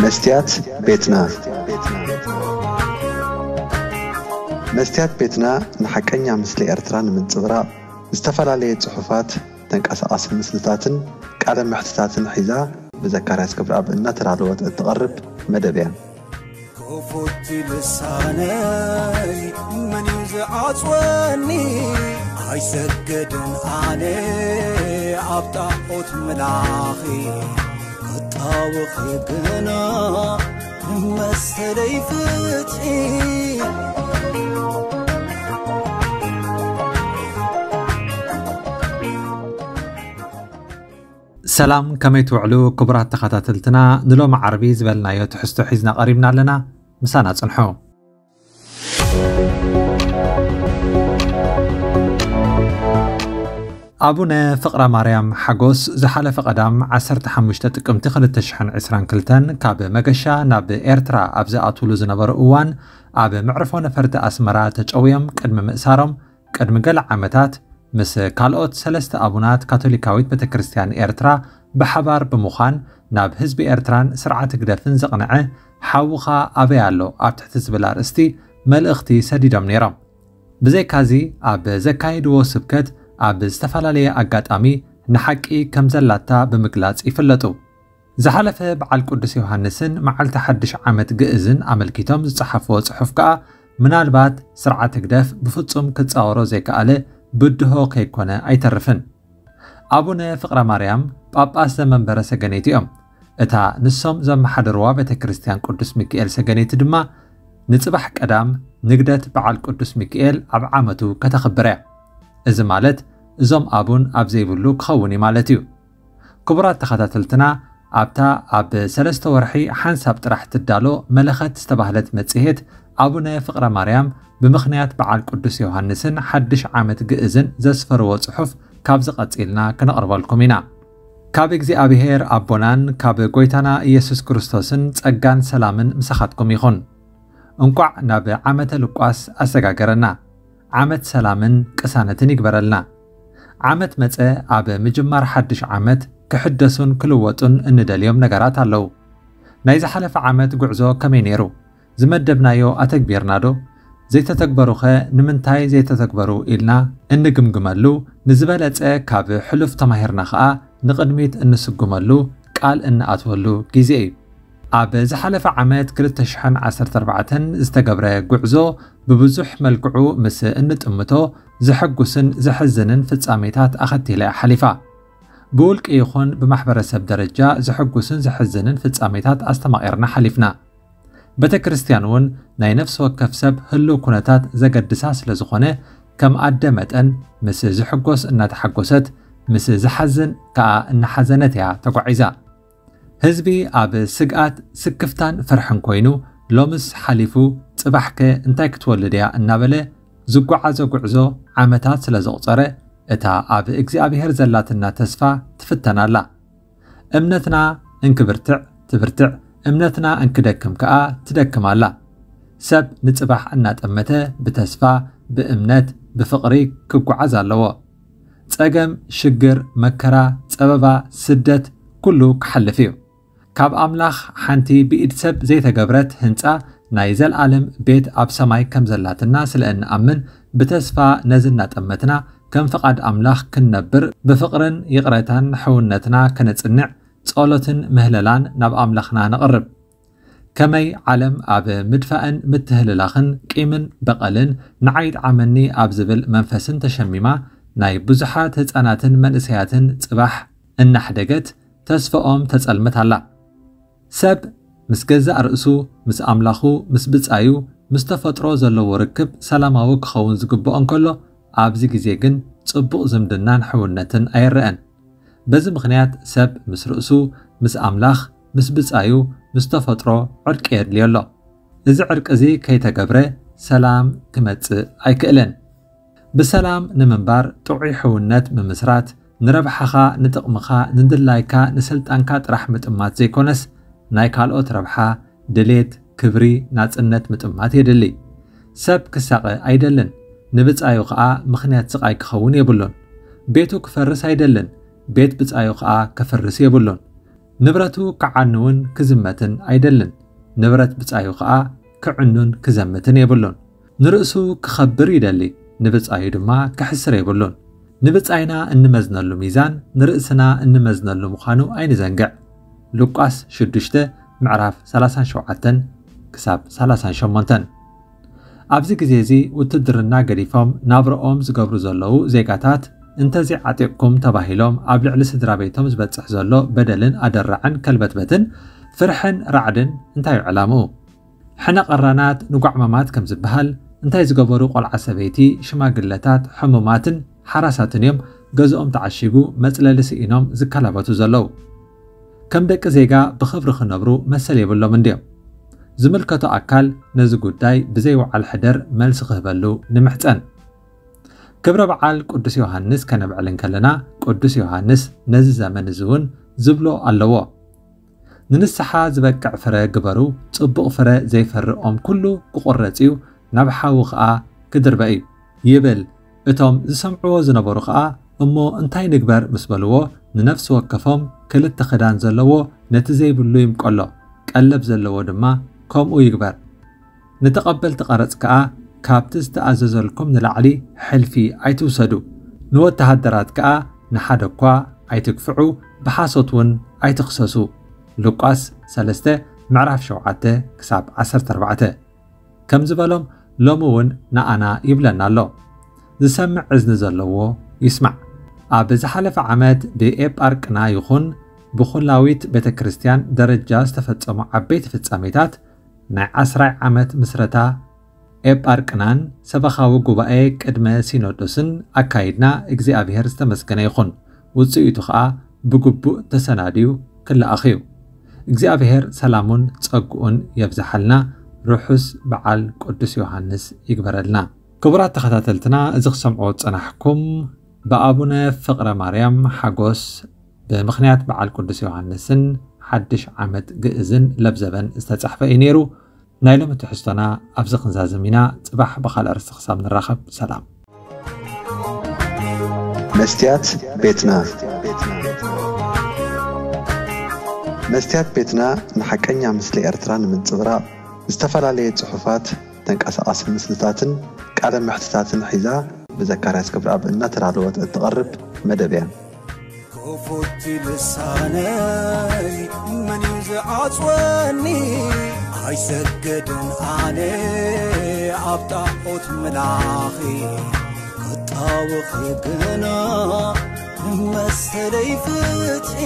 መስትያት ቤትና። መስትያት ቤትና ንሓቀኛ ምስሊ ኤርትራ ንምንጽብራቕ ዝተፈላለየ ጽሑፋት፣ ተንቀሳቓሲ ምስልታትን ቃለ መሕትታትን ሒዛ ብዘካርያስ ገብረኣብ እናተዳለወት እትቐርብ መደብ እያ። ክፉት ልሳነይ መን እዩ ዝዓጽወኒ? ኣይሰግድን ኣነ ኣብ ጣዖት ምላኺ፣ ክጣወኺ ግና መሰለይ ፍትሒ። ሰላም፣ ከመይ ትውዕሉ ክቡራት ተኸታተልትና? ንሎሚ ዓርቢ ዝበልናዮ ትሕዝቶ ሒዝና ቀሪብና ኣለና። ምሳና ጽንሑ። ኣቡነ ፍቕረ ማርያም ሓጎስ ዝሓለፈ ቀዳም ዓሰርተ ሓሙሽተ ጥቅምቲ ክልተ ሽሕን ዕስራን ክልተን ካብ መገሻ ናብ ኤርትራ ኣብ ዝኣትውሉ ዝነበሩ እዋን፣ ኣብ መዕርፎ ነፈርቲ ኣስመራ ተጨውዮም ቅድሚ ምእሳሮም፣ ቅድሚ ገለ ዓመታት ምስ ካልኦት ሰለስተ ኣቡናት ካቶሊካዊት ቤተክርስትያን ኤርትራ ብሓባር ብምዃን፣ ናብ ህዝቢ ኤርትራን ስርዓት ህግደፍን ዘቕንዐ ሓውኻ ኣበይ ኣሎ ኣብ ትሕቲ ዝብል ኣርእስቲ መልእኽቲ ሰዲዶም ነይሮም። ብዘይካዚ፣ ኣብ ዘካየድዎ ስብከት ኣብ ዝተፈላለየ ኣጋጣሚ ንሓቂ ከም ዘላታ ብምግላጽ ይፍለጡ። ዝሓለፈ በዓል ቅዱስ ዮሃንስን መዓልቲ ሓድሽ ዓመት ግእዝን ኣመልኪቶም ዝጸሓፍዎ ጽሑፍ ከኣ፣ ምናልባት ስርዓት ህግደፍ ብፍጹም ክጻወሮ ዘይከኣለ ብድሆ ከይኮነ ኣይተርፍን። ኣቡነ ፍቕረ ማርያም ጳጳስ ዘመንበረ ሰገነይቲ እዮም። እታ ንሶም ዘመሓድርዋ ቤተ ክርስቲያን ቅዱስ ሚካኤል ሰገነይቲ ድማ ንጽባሕ ቀዳም ንግደት በዓል ቅዱስ ሚካኤል ኣብ ዓመቱ ከተኽብር እያ። እዚ ማለት እዞም ኣቡን ኣብ ዘይብሉ ክኸውን እዩ ማለት እዩ። ክቡራት ተኸታተልትና፣ ኣብታ ኣብ ሰለስተ ወርሒ ሓንሳብ ጥራሕ ትዳሎ መለኸት ዝተባህለት መጽሔት፣ ኣቡነ ፍቕረ ማርያም ብምኽንያት በዓል ቅዱስ ዮሃንስን ሓድሽ ዓመት ግእዝን ዘስፈርዎ ጽሑፍ ካብዚ ቀጺልና ክነቕርበልኩም ኢና። ካብ እግዚኣብሔር ኣቦናን ካብ ጐይታና ኢየሱስ ክርስቶስን ጸጋን ሰላምን ምሳኻትኩም ይኹን። እንቋዕ ናብ ዓመተ ሉቃስ ኣሰጋገረና። ዓመት ሰላምን ቅሳነትን ይግበረልና። ዓመት መጸ ኣብ ምጅማር ሓድሽ ዓመት ክሕደሱን ክልወጡን እንደልዮም ነገራት ኣለዉ። ናይ ዝሓለፈ ዓመት ጉዕዞ ከመይ ነይሩ? ዝመደብናዮ ኣተግቢርና ዶ? ዘይተተግበሩኸ ንምንታይ ዘይተተግበሩ ኢልና እንግምግመሉ፣ ንዝበለጸ ካብ ሕሉፍ ተማሂርና ኸኣ ንቕድሚት እንስጉመሉ፣ ቃል እንኣትወሉ ግዜ እዩ። ኣብ ዝሓለፈ ዓመት ክልተ ሽሕን ዓሰርተ ኣርባዕተን ዝተገብረ ጉዕዞ ብብዙሕ መልክዑ ምስ እንጥምቶ ዘሐጉስን ዘሕዝንን ፍጻሜታት ኣኸቲላ እያ ሓሊፋ። ብውልቂ ይኹን ብማሕበረሰብ ደረጃ ዘሐጉስን ዘሕዝንን ፍጻሜታት ኣስተማቒርና ሓሊፍና። ቤተ ክርስቲያን እውን ናይ ነፍሲ ወከፍ ሰብ ህልው ኩነታት ዘገድሳ ስለ ዝኾነ፣ ከም ኣደ መጠን ምስ ዝሕጎስ እናተሓጎሰት፣ ምስ ዝሓዝን ከኣ እናሓዘነት እያ ተጓዒዛ። ህዝቢ ኣብ ስግኣት፣ ስክፍታን ፍርሕን ኮይኑ፣ ሎምስ ሓሊፉ፣ ጽባሕከ እንታይ ክትወልድ እያ እናበለ ዝጓዓዞ ጉዕዞ ዓመታት ስለ ዘቑጸረ፣ እታ ኣብ እግዚኣብሔር ዘላትና ተስፋ ትፍተን ኣላ። እምነትና እንክብርትዕ ትብርትዕ፣ እምነትና እንክደክም ከኣ ትደክም ኣላ። ሰብ ንጽባሕ እናጠመተ ብተስፋ፣ ብእምነት፣ ብፍቕሪ ክጓዓዝ ኣለዎ። ጸገም፣ ሽግር፣ መከራ፣ ጸበባ፣ ስደት ኩሉ ክሓልፍ እዩ። ካብ ኣምላኽ ሓንቲ ብኢድ ሰብ ዘይተገብረት ህንጻ ናይ ዘልኣለም ቤት ኣብ ሰማይ ከም ዘላትና ስለ እንኣምን፣ ብተስፋ ነዚ እናጠመትና ከም ፍቓድ ኣምላኽ ክንነብር፣ ብፍቕርን ይቕረታን ሕውነትና ከነጽንዕ፣ ጸሎትን ምህለላን ናብ ኣምላኽና ነቕርብ። ከመይ ዓለም ኣብ ምድፋእን ምትህልላኽን ቂምን በቐልን ንዓይ ጥዓመኒ ኣብ ዝብል መንፈስን ተሸሚማ፣ ናይ ብዙሓት ህጻናትን መንእሰያትን ጽባሕ እናሕደገት ተስፋኦም ተጸልምት ኣላ። ሰብ ምስ ገዛእ ርእሱ፣ ምስ ኣምላኹ፣ ምስ ብጻዩ፣ ምስ ተፈጥሮ ዘለዎ ርክብ ሰላማዊ ክኸውን ዝግብኦ እንከሎ፣ ኣብዚ ግዜ ግን ጽቡቕ ዝምድናን ሕውነትን ኣይረኣን። በዚ ምኽንያት ሰብ ምስ ርእሱ፣ ምስ ኣምላኽ፣ ምስ ብጻዩ፣ ምስ ተፈጥሮ ዕርቂ የድልዮ ኣሎ። እዚ ዕርቂ እዚ ከይተገብረ ሰላም ክመጽእ ኣይክእልን። ብሰላም ንምንባር ጥዑይ ሕውነት ምምስራት፣ ንረብሓኻ፣ ንጥቕምኻ፣ ንድላይካ፣ ንስልጣንካ ጥራሕ ምጥማት ዘይኮነስ፣ ናይ ካልኦት ረብሓ፣ ድሌት፣ ክብሪ፣ ናጽነት ምጥማት የድሊ። ሰብ ክሳቐ ኣይደልን፣ ንብጻዩ ኸኣ ምኽንያት ስቓይ ክኸውን የብሉን። ቤቱ ክፈርስ ኣይደልን፣ ቤት ብጻዩ ኸኣ ከፍርስ የብሉን። ንብረቱ ክዓኑ እውን ክዝመትን ኣይደልን። ንብረት ብጻዩ ከኣ ክዕኑን ክዘምትን የብሉን። ንርእሱ ክኸብር ይደሊ፣ ንብጻዩ ድማ ክሕስር የብሉን። ንብጻይና እንመዝነሉ ሚዛን ንርእስና እንመዝነሉ ምዃኑ ኣይንዘንግዕ። ሉቃስ ሽዱሽተ ምዕራፍ ሰላሳን ሸውዓተን ክሳብ ሰላሳን ሸሞንተን። ኣብዚ ግዜ እዚ ውትድርና ገዲፎም ናብረኦም ዝገብሩ ዘለዉ ዜጋታት፣ እንተዘይዓጢቕኩም ተባሂሎም ኣብ ልዕሊ ስድራ ቤቶም ዝበጽሕ ዘሎ በደልን ኣደራዕን ከልበትበትን ፍርሕን ራዕድን እንታይ እዩ ዕላምኡ? ሕነ ቀራናት ንጓዕማማት ከም ዝበሃል፣ እንታይ ዝገበሩ ቆልዓ ሰበይቲ፣ ሽማግለታት፣ ሕሙማትን ሓራሳትን እዮም ገዝኦም ተዓሺጉ መጽለሊ ስኢኖም ዝከላበቱ ዘለዉ? ከም ደቂ ዜጋ ብኽብሪ ክነብሩ መሰል የብሎም እንድዮም? ዝምልከቶ ኣካል ነዚ ጉዳይ ብዘይ ወዓል ሕደር መልሲ ክህበሉ ንምሕጸን። ክብረ በዓል ቅዱስ ዮሃንስ ከነብዕል እንከለና፣ ቅዱስ ዮሃንስ ነዚ ዘመን እዚ እውን ዝብሎ ኣለዎ። "ንንስሓ ዝበቅዕ ፍረ ግበሩ፣ ጽቡቕ ፍረ ዘይፈሪ ኦም ኩሉ ክቑረጽ እዩ፣ ናብ ሓዊ ኸኣ ክድርበ እዩ" ይብል። እቶም ዝሰምዕዎ ዝነበሩ ኸኣ፣ "እሞ እንታይ ንግበር?" ምስ በልዎ፣ ንነፍሲ ወከፎም ክልተ ክዳን ዘለዎ ነቲ ዘይብሉ ይምቀሎ፣ ቀለብ ዘለዎ ድማ ከምኡ ይግበር። ንተቐበልቲ ቀረጽ ከኣ፣ "ካብቲ ዝተኣዘዘልኩም ንላዕሊ ሕልፊ ኣይትውሰዱ፣ ንወተሃደራት ከኣ ንሓደ እኳ ኣይትግፍዑ፣ ብሓሶት እውን ኣይትኽሰሱ" ሉቃስ ሰለስተ ምዕራፍ ሸውዓተ ክሳብ ዓሰርተ ኣርባዕተ። ከም ዝበሎም ሎሚ እውን ንኣና ይብለና ኣሎ። ዝሰምዕ እዝኒ ዘለዎ ይስማዕ። ኣብ ዝሓለፈ ዓመት ብኤጳርቅና ይኹን ብኹላዊት ቤተ ክርስቲያን ደረጃ ዝተፈጸሙ ዓበይቲ ፍጻሜታት፣ ናይ ዓስራይ ዓመት ምስረታ ኤጳርቅናን ሰበኻዊ ጉባኤ ቅድመ ሲኖዶስን ኣካይድና፣ እግዚኣብሔር ዝተመስገነ ይኹን። ውጽኢቱ ኸኣ ብግቡእ ተሰናድዩ ክለኣኽ እዩ። እግዚኣብሔር ሰላሙን ጸግኡን የብዝሓልና። ርሑስ በዓል ቅዱስ ዮሃንስ ይግበረልና። ክቡራት ተኸታተልትና፣ እዚ ክሰምዖ ዝጸናሕኩም ብኣቡነ ፍቕረ ማርያም ሓጎስ ብምኽንያት በዓል ቅዱስ ዮሃንስን ሓድሽ ዓመት ግእዝን ለብዘበን ዝተጻሕፈ እዩ ነይሩ። ናይ ሎሚ ትሕዝቶና ኣብዚ ክንዛዝም ኢና። ጽባሕ ብኻልእ ኣርእስቲ ክሳብ ንራኸብ፣ ሰላም። መስትያት ቤትና። መስትያት ቤትና ንሓቀኛ ምስሊ ኤርትራ ንምንጽብራቕ ዝተፈላለየ ጽሑፋት፣ ተንቀሳቓሲ ምስልታትን ቃለ መሕትታትን ሒዛ ብዘካርያስ ክብረኣብ እናተዳለወት እትቐርብ መደብ እያ። ክፉት ልሳነይ መን እዩ ዝዓጽወኒ? ኣይሰግድን ኣነ ኣብ ጣዖት ምላኺ። ክጣወኺ ግና መሰለይ ፍትሒ።